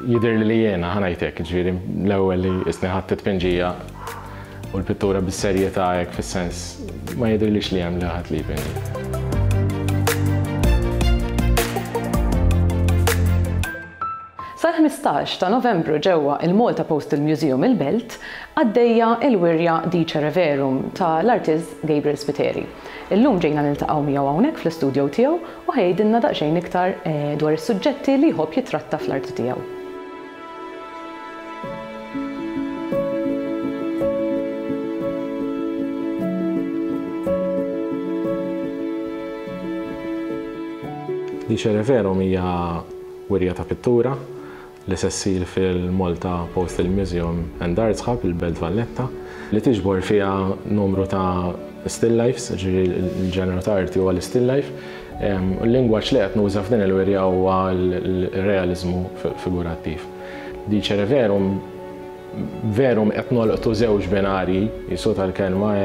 Jidhirli li jiena, ħa ngħid hekk, jiġifieri l-ewwel li qisni ħadt it-tpinġija u l-pittura bis-serjetà hekk fis-sens ma jidhirlix li hemm li ħadd li jpinġi. Sal-15 ta' Novembru ġewwa il-Malta Postal Museum il-Belt għaddejja il-wirja Dicere Verum ta' l-artist Gabriel Spiteri. Illum ġejna niltaqgħu miegħu hawnhekk fl-istudio tiegħu u ħa jgħidilna daqsxejn iktar dwar is-suġġetti li jħobb jittratta fl-arti tiegħu. Dicere Verum hija wirja ta' pittura li se ssir fil-Malta Postal Museum and Arts Hub, il-Belt Valletta, li tiġbor fiha numru ta' still lifes, ġifieri l-ġeneru ta' arti huwa l-still life. U l-lingwaġġ li qed nuża f'din il-wirja huwa l-realiżmu figurattiv. Dicere verum, verum qed nolqtu żewġ binarji, qisu tal-kelma.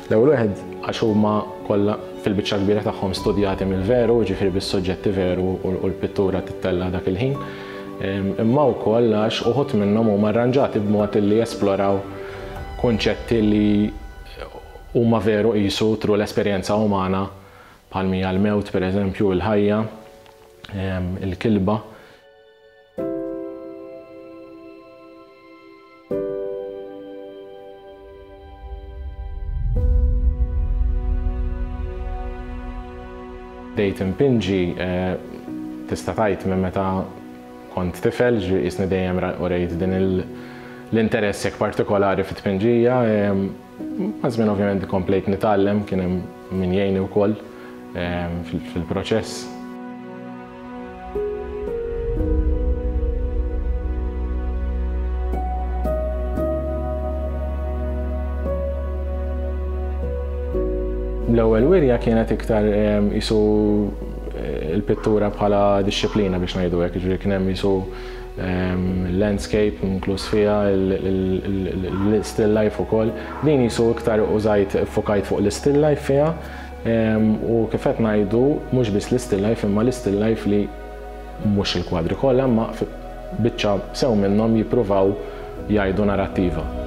L-ewwel wieħed għax huma kollha fil-biċċa l-kbira tagħhom studjati mill-veru, jiġifieri bis-suġġetti veru u l-pittura tittella' dak il-ħin, imma wkoll għax uħud minnhom huma arranġati b'mod li jesploraw kunċetti li huma veru qisu through l-esperjenza umana bħal m'hija l-mewt pereżempju, il-ħajja, il-kilba. Bdejt inpinġi tista' tgħid minn meta kont tifel, ġifieri qisni dejjem urejt din l-interess hekk partikolari fit-tpinġija. Maż-żmien ovvjament komplejt nitgħallem, kien hemm min jgħinni wkoll fil-proċess. L-ewwel wirja kienet iktar qisu l-pittura bħala dixxiplina biex ngħidu hekk, jiġifieri kien hemm qisu landscape inkluż fiha, l-still life ukoll. Din qisu iktar użajt iffokajt fuq l-still life fiha. U kif qed ngħidu, mhux biss l-istill life imma l-istill life li mhux il-kwadri kollha imma biċċa sew minnhom jippruvaw jgħidu narattiva.